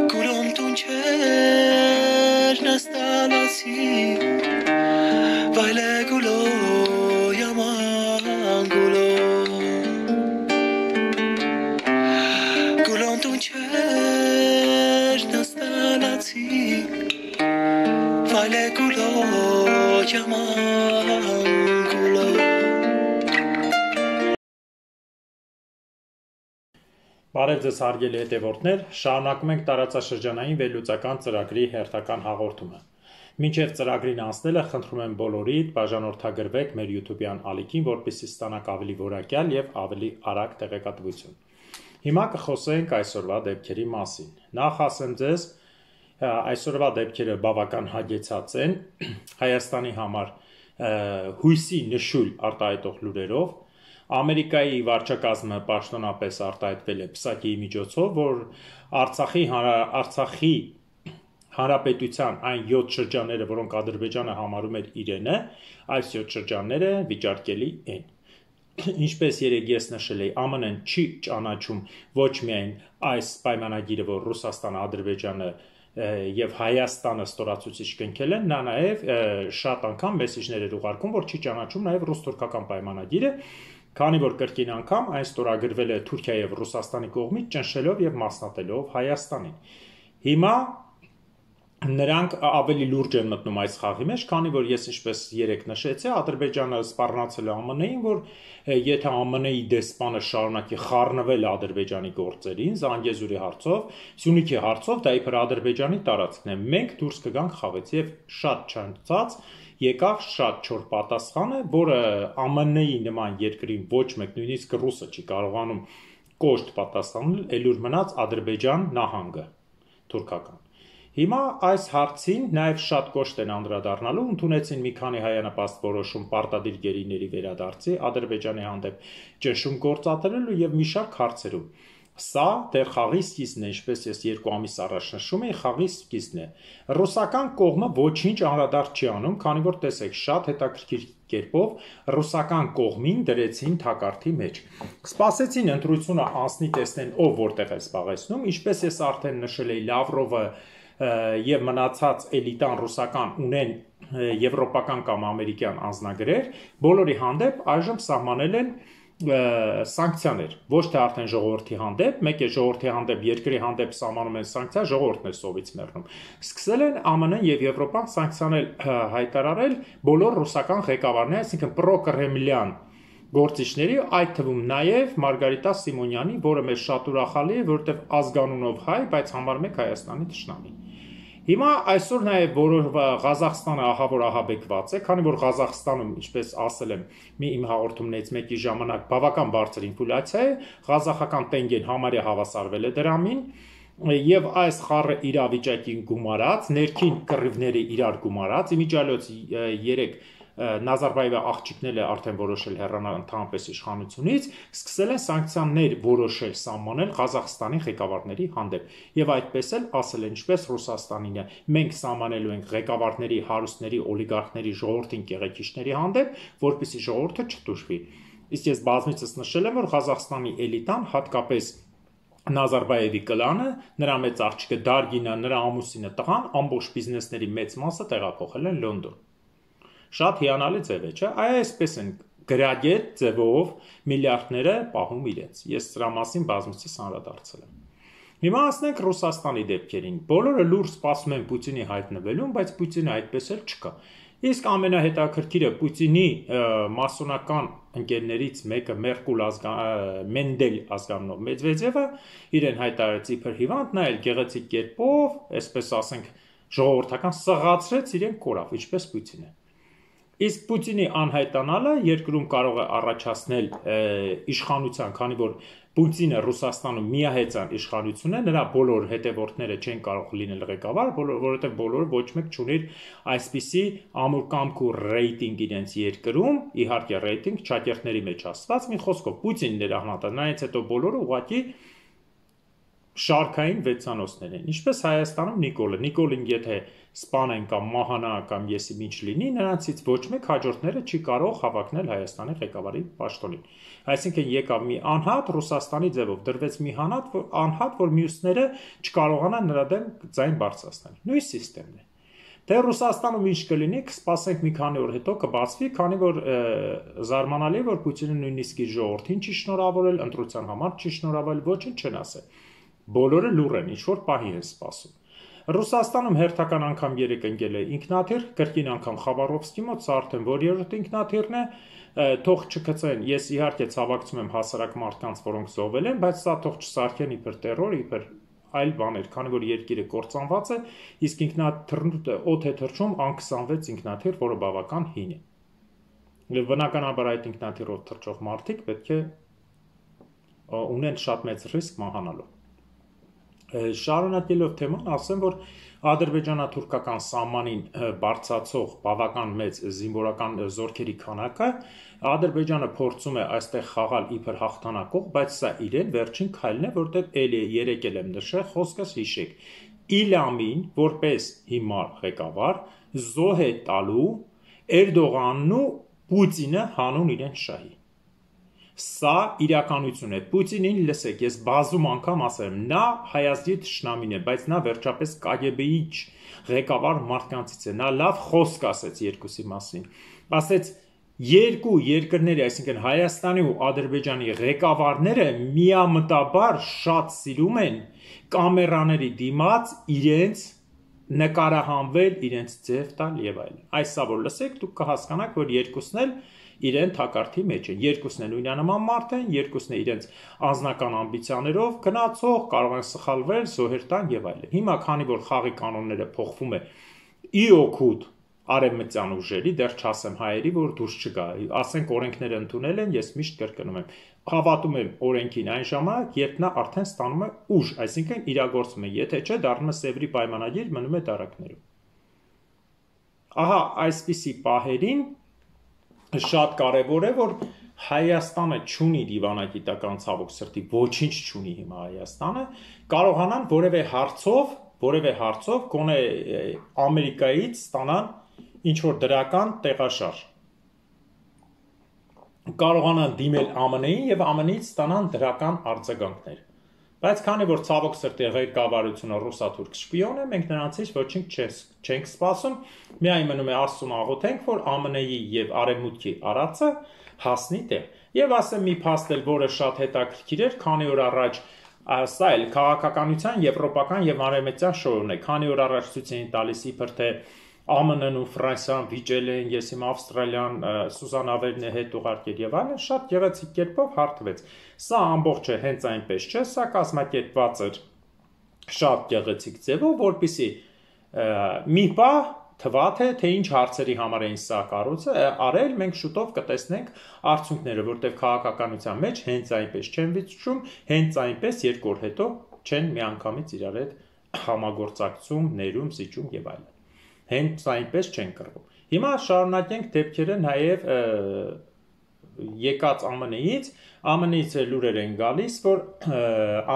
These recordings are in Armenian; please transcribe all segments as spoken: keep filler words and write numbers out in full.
Գուլոմ տուն չեր նստալացի Վայլ է գուլո yaman գուլո Գուլոմ տուն չեր նստալացի Վայլ է գուլո yaman գուլո Բարև ձեզ հարգելի հետևորդներ, շարունակում ենք տարածաշրջանային վերլուծական ծրագրի հերթական հաղորդումը։ Մինչև ծրագրին անցնելը խնդրում եմ բոլորիդ բաժանորդագրվեք մեր YouTube-յան ալիքին, որպեսզի ստանաք ավելի որակյալ եւ ավելի արագ տեղեկատվություն։ Հիմա կխոսենք այսօրվա դեպքերի մասին։ Նախ ասեմ ձեզ, այսօրվա դեպքերը բավական հագեցած են Հայաստանի համար հույսի նշույլ արտահայտող լուրերով։ Ամերիկայի վարչակազմը պաշտոնապես արտահայտվել է պսակի միջոցով, որ Արցախի Արցախի Հանրապետության այն յոթ շրջանները, որոնք Ադրբեջանը համարում էր իրենը, այս յոթ շրջանները վիճարկելի են։ Ինչպես երեք ես նշել էի, ԱՄՆ-ն չի ճանաչում ոչ միայն այս պայմանագիրը, որ Ռուսաստանը, Ադրբեջանը եւ Հայաստանը ստորացուցիչ կնքել են, նա նաեւ շատ անգամ մեսիջներ էր ուղարկում, որ չի ճանաչում նաեւ ռուս-թուրքական պայմանագիրը, քանի որ կրկին անգամ այն ստորագրվել է Թուրքիայի եւ Ռուսաստանի կողմից, ճնշելով եւ մասնատելով Հայաստանին։ Հիմա նրանք ավելի լուրջ են մտնում այս խաղի մեջ, քանի որ ես ինչպես երեք նշեցի, Ադրբեջանը սպառնացել է ԱՄՆ-ին, որ եթե ԱՄՆ-ի դեսպանը շարունակի խառնվել Ադրբեջանի գործերին, Զանգեզուրի հարցով, Սյունիքի հարցով, դա իբր Ադրբեջանի տարածքն է, մենք դուրս կգանք խաղից եւ շատ չանցած եկավ շատ չոր պատասխանը, որը ԱՄՆ-ի նման երկրին ոչ մեկ, նույնիսկ ռուսը չի կարողանում կոշտ պատասխանել, ելուր մնաց Ադրբեջան նահանգը, թուրքական։ Հիմա այս հարցին նաև շատ կոշտ են անդրադառնալու, ընդունեցին մի քանի հայանպաստ որոշում պարտադիր գերիների վերադարձի, Ադրբեջանի հանդեպ ճնշում գործադրելու եւ մի շարք հարցերում։ Սա դեռ խաղի սկիզբն է, ինչպես ես երկու ամիս առաջ նշում էի, խաղի սկիզբն է։ Ռուսական կողմը ոչինչ անդրադարձ չի անում, քանի որ տեսեք, շատ հետաքրքիր կերպով ռուսական կողմին դրեցին թակարդի մեջ։ Սպասեցին ընտրությունը անցնի, տեսնեն ով որտեղ է զբաղեցնում, ինչպես ես արդեն նշել էի, Լավրովը եւ մնացած էլիտան ռուսական ունեն եվրոպական կամ ամերիկյան անձնագրեր, բոլորի հանդեպ այժմ սահմանել են սանկցիաներ, ոչ թե արդեն ժողովրդի հանդեպ, մեկ է ժողովրդի հանդեպ, երկրի հանդեպ սահմանում են սանկցիա, ժողովուրդն է սովից մեռնում։ Սկսել են ԱՄՆ-ն եւ Եվրոպան սանկցիաներ հայտարարել բոլոր ռուսական ղեկավարների, այսինքն պրոկրեմլյան գործիչների, այդ թվում նաև Մարգարիտա Սիմոնյանի, որը մեզ շատ ուրախալի է, որովհետև ազգանունով հայ, բայց համարում եք Հայաստանի թշնամի։ Հիմա այսօր նաև որ Ղազախստանը ահավոր ահաբեկված է, քանի որ Ղազախստանում, ինչպես ասել եմ, մի իմ հաղորդումներից մեկի ժամանակ բավական բարձր ինֆլյացիա է, ղազախական տենգեն համարյա հավասարվել է դրամին, եւ այս խառը իրավիճակին գումարած, ներքին կռիվների իրար գումարած, իմիջիալոց երեք Նազարբայևի աղջիկները արդեն որոշել հեռանալ ընդհանրապես իշխանությունից, սկսել են սանկցիաներ որոշել սահմանել Ղազախստանի ղեկավարների հանդեպ։ Եվ այդպես էլ ասել են, ինչպես Ռուսաստանին է, մենք սահմանելու ենք ղեկավարների, հարուստների, օլիգարխների, ժողովրդին կեղեքիչների հանդեպ, որպեսզի ժողովուրդը չտուժվի։ Իսկ ես բազմիցս նշել եմ, որ Ղազախստանի էլիտան, հատկապես Նազարբայևի կլանը, նրա մեծ աղջիկը Դարգինը, նրա ամուսինը, տղան, ամբողջ բիզնեսների մեծ մասը տեղափոխել են Լոնդոն։ Շատ հիանալի ձև է, չէ՞։ Այսպես են գրագետ ձևով միլիարդները պահում իրենց։ Ես սրա մասին բազմիցս անդրադարձել եմ։ Հիմա ասենք Ռուսաստանի դեպքերին։ Բոլորը լուր սպասում են Պուտինի հայտնվելուն, բայց Պուտինը այդպես էլ չկա։ Իսկ ամենահետաքրքիրը Պուտինի մասոնական ընկերներից մեկը Մերկուլ Մենդել ազգանունով Մեդվեդևը իրեն հայտարարեց իբր հիվանդ, նա էլ գեղեցիկ կերպով, այսպես ասենք, ժողովրդական սղացրեց իրեն կորավ, ինչպես Պուտինը։ Իսկ Պուտինի անհայտանալը երկրում կարող է առաջացնել իշխանության, քանի որ Պուտինը Ռուսաստանում միահեծան իշխանություն է, նրա բոլոր հետևորդները չեն կարող լինել ղեկավար, որովհետև բոլորը ոչ մեկ չունի այսպիսի ամուր կամք ու ռեյտինգ իրենց երկրում, իհարկե ռեյտինգ չակերտների մեջ ասված, մի խոսքով Պուտինն էր ահնատը, նրանից հետո բոլորը ուղղակի շարքային վեցանոցներ են, ինչպես Հայաստանում Նիկոլը, Նիկոլին եթե սպանեն կամ մահանա կամ եսի ինչ լինի, նրանցից ոչ մեկ հաջորդները չի կարող հավակնել Հայաստանի ղեկավարի պաշտոնին։ Այսինքն եկավ մի անհատ Ռուսաստանի ձևով դրվեց մի հանատ, որ անհատ, որ մյուսները չկարողանան նրա դեմ ձայն բարձրացնել։ Նույն սիստեմն է։ Դե Ռուսաստանում ինչ կլինի, կսպասենք մի քանի օր հետո կբացվի, քանի որ զարմանալի է, որ Պուտինը նույնիսկ իր ժողովրդին չի շնորհավորել, ընտրության համար չի շնորհավորել, ոչինչ չեն ասել։ Բոլորը լուռ են, ինչ որ պահի են սպասում։ Ռուսաստանում հերթական անգամ երեք ընկել է ինքնաթիռ, կրկին անգամ Խաբարովսկի մոտ, սա արդեն որ երրորդ ինքնաթիռն է, թող չգցեն, ես իհարկե ցավակցում եմ հասարակ մարդկանց, որոնք զոհվել են, բայց սա թող չսարքեն իբր տերոր, իբր այլ բաներ, քանի որ երկիրը կործանված է, իսկ ինքնաթիռը օդ է թռչում ան քսանվեց ինքնաթիռ, որը բավական հին է։ Եվ բնականաբար այդ ինքնաթիռով թռչող մարդիկ պետք է ունեն շատ մեծ ռիսկ մահանալու։ Շարունակելով թեման, ասեմ, որ ադրբեջանա-թուրքական սահմանին բարձրացող բավական մեծ զինվորական զորքերի քանակը Ադրբեջանը փորձում է այստեղ խաղալ իբր հաղթանակող, բայց սա իրեն վերջին քայլն է, որտեղ էլի երեք էլ եմ նշել, խոսքս հիշեք։ Իլամին, որպես հիմար ղեկավար, զոհ է տալու Էրդողանն ու Պուտինը հանուն իրեն շահի։ Սա իրականություն է։ Պուտինին լսեք, ես բազում անգամ ասել եմ, նա Հայաստանի թշնամին է, բայց նա վերջապես Կ Գ B-ի ղեկավար մարդկանցից է։ Նա լավ խոսք ասեց երկուսի մասին։ Ասեց երկու երկրների, այսինքն Հայաստանի ու Ադրբեջանի ղեկավարները միամտաբար շատ սիրում են կամերաների դիմաց իրենց նկարահանվել, իրենց ձև տալ եւ այլն։ Այսա որ լսեք, դուք կհասկանաք, որ երկուսն էլ իրեն թակարդի մեջ են, երկուսն են նույնանման մարդ են, երկուսն է իրենց անձնական ամբիցիաներով գնացող, կարող են սխալվել, զոհեր տան եւ այլն։ Հիմա քանի որ խաղի կանոնները փոխվում է ի օգուտ արևմտյան ուժերի, դեռ չասեմ հայերի, որ դուրս չգա, ասենք օրենքները ընդունել են, ես միշտ կրկնում եմ, հավատում եմ օրենքին այն ժամանակ, երբ նա արդեն ստանում է ուժ, այսինքն իրագործում է, եթե չէ, դառնում է Սևրի պայմանագիր, մնում է դարակներում։ Ահա այսպիսի պահերին շատ կարևոր է, որ Հայաստանը չունի դիվանագիտական ցավոք սրտի, ոչինչ չունի հիմա Հայաստանը, կարողանան որևէ հարցով, որևէ հարցով գոնե Ամերիկայից ստանան ինչ որ դրական տեղաշարժ։ Կարողանան դիմել Ամն Ի-ին եւ Ամն Ի-ից ստանան դրական արձագանքներ։ Բայց քանի որ ցավոք սրտի ղեկավարությունը ռուսա-թուրք շպիոն է, մենք նրանցից ոչինչ չենք սպասում, միայն մնում է Աստծուն աղոթենք, որ Ամն Ի-ի եւ Արևմուտքի արածը հասնի տեղ։ Եվ ասեմ մի փաստ էլ, որը շատ հետաքրքիր էր, քանի օր առաջ սա էլ քաղաքականության եվրոպական եւ արևմտյան շոուն է, քանի օր առաջ ցույց էին տալիս իբր թե Ամն Ն-ն ու Ֆրանսիան վիճել են, ես իմ Ավստրալիան Սուզանավերն է հետ ուղարկել եւ այլն, շատ գեղեցիկ կերպով հարթվեց։ Սա ամբողջը հենց այնպես չէ, սա կազմակերպված էր շատ գեղեցիկ ձևով, որպեսզի մի պահ թվա թե թե ինչ հարցերի համար էին սա կառուցը արել, մենք շուտով կտեսնենք արդյունքները, որտեղ քաղաքականության մեջ հենց այնպես չեն վիճում, հենց այնպես երկու օր հետո չեն միանգամից իրար հետ համագործակցում, ներում, զիջում եւ այլն։ Հենց այնպես չեն կռվում։ Հիմա շարունակենք դեպքերը նաև եկած Ամն Ի-ից, Ամն Ի-ից լուրեր են գալիս, որ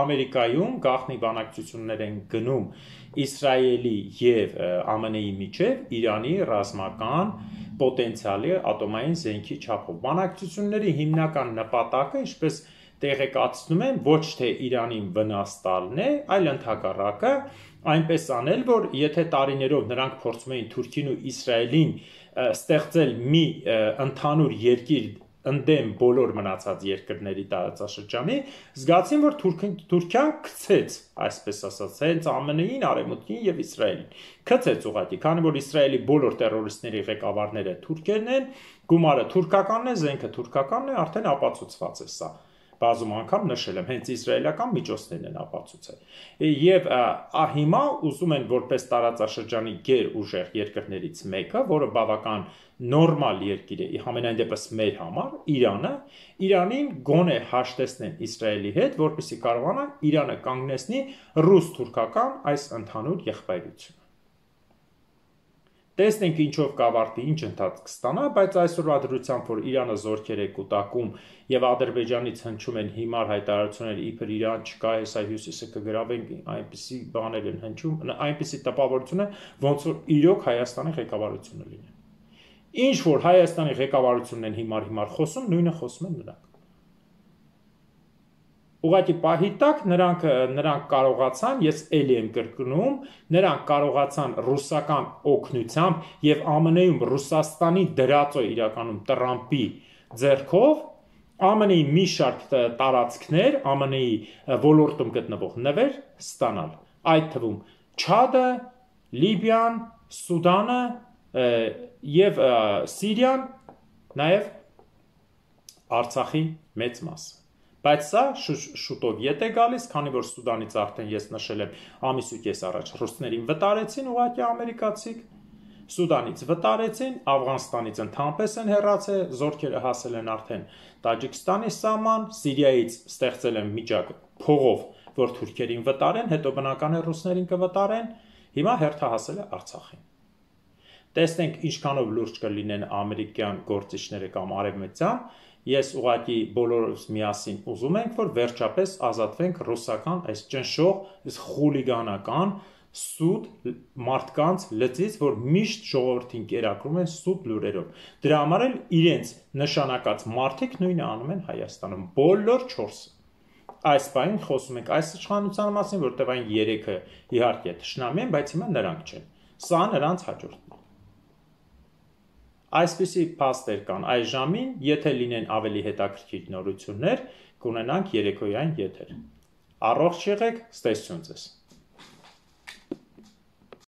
Ամերիկայում գաղտնի բանակցություններ են գնում Իսրայելի եւ Ամն Ի-ի միջև Իրանի ռազմական պոտենցիալի ատոմային զենքի չափով։ Բանակցությունների հիմնական նպատակը, ինչպես տեղեկացնում են, ոչ թե Իրանին վնաս տալն է, այլ ընդհակառակը այնպես անել, որ եթե տարիներով նրանք փորձում էին Թուրքին ու Իսրայելին ստեղծել մի ընդհանուր երկիր ընդդեմ բոլոր մնացած երկրների տարածաշրջանի, զգացին, որ Թուրքիան գցեց, այսպես ասած, հենց Ամն Ի-ին, Արևմուտքին եւ Իսրայելին։ Գցեց ուղղակի, քանի որ Իսրայելի բոլոր տերորիստների ղեկավարները թուրքերն են, գումարը թուրքականն է, զենքը թուրքականն է, արդեն ապացուցված է սա։ Բազում անգամ նշել եմ, հենց իսրայելական միջոցներն են ապացուցել։ Եվ հիմա ուզում են որպես տարածաշրջանի գերուժեղ երկրներից մեկը, որը բավական նորմալ երկիր է, համենայն դեպս մեր համար, Իրանը, Իրանին գոնե հաշտեցնեն Իսրայելի հետ, որպեսզի կարողանա Իրանը կանգնեցնի ռուս-թուրքական այս ընդհանուր եղբայրությունը։ Տեսնենք ինչով կավարտի, ինչ ընթացք կստանա, բայց այսօրվա դրությամբ, որ Իրանը զորքեր է կուտակում եւ Ադրբեջանից հնչում են հիմար հայտարարություններ, իբր Իրան չկա, հեսա հյուսիսը կգրավենք, այնպիսի բաներ են հնչում, այնպիսի տպավորություն է, ոնց որ իրոք Հայաստանի ղեկավարությունը լինի։ Ինչ որ Հայաստանի ղեկավարությունն են հիմար-հիմար խոսում, նույնը խոսում են նրանք։ Ուղղակի պահի տակ նրանք նրանք կարողացան, ես էլի եմ կրկնում, նրանք կարողացան ռուսական օգնությամբ եւ ԱՄՆ-ում Ռուսաստանի դրածո իրականում Տրամպի ձեռքով ԱՄՆ-ի մի շարք տարածքներ, ԱՄՆ-ի ոլորտում գտնվող նվեր ստանալ, այդ թվում Չադը, Լիբիան, Սուդանը եւ Սիրիան, նաեւ Արցախի մեծ մասը։ Բայց սա շուտով ետ է գալիս, քանի որ Սուդանից արդեն ես նշել եմ ամիս ու կես առաջ ռուսներին վտարեցին ուղղակի ամերիկացիք, Սուդանից վտարեցին, Աֆղանստանից ընդհանրապես են հեռացել, զորքերը հասել են արդեն Տաջիկստանի սահման, Սիրիայից ստեղծել են միջակ փողով, որ թուրքերին վտարեն, հետո բնական է ռուսներին կվտարեն, հիմա հերթահասել է Արցախին։ Տեսնենք ինչքանով լուրջ կլինեն ամերիկյան գործիչները կամ արևմտյան, ես ուղղակի բոլորս միասին ուզում ենք, որ վերջապես ազատվենք ռուսական այս ճնշող, այս խուլիգանական, սուտ մարդկանց լծից, որ միշտ ժողովրդին կերակրում են սուտ լուրերով։ Դրա համար էլ իրենց նշանակած մարդիկ նույնը անում են Հայաստանում, բոլոր չորսը։ Այս բանին խոսում ենք այս իշխանության մասին, որտեղ այն երեքը իհարկե թշնամի են, բայց հիմա նրանք չեն։ Սա նրանց հաջորդն է։ Այսպիսի փաստեր կան այս ժամին, եթե լինեն ավելի հետաքրքիր նորություններ, կունենանք երեկոյան եթեր։ Առողջ եղեք, ստեսություն ձեզ։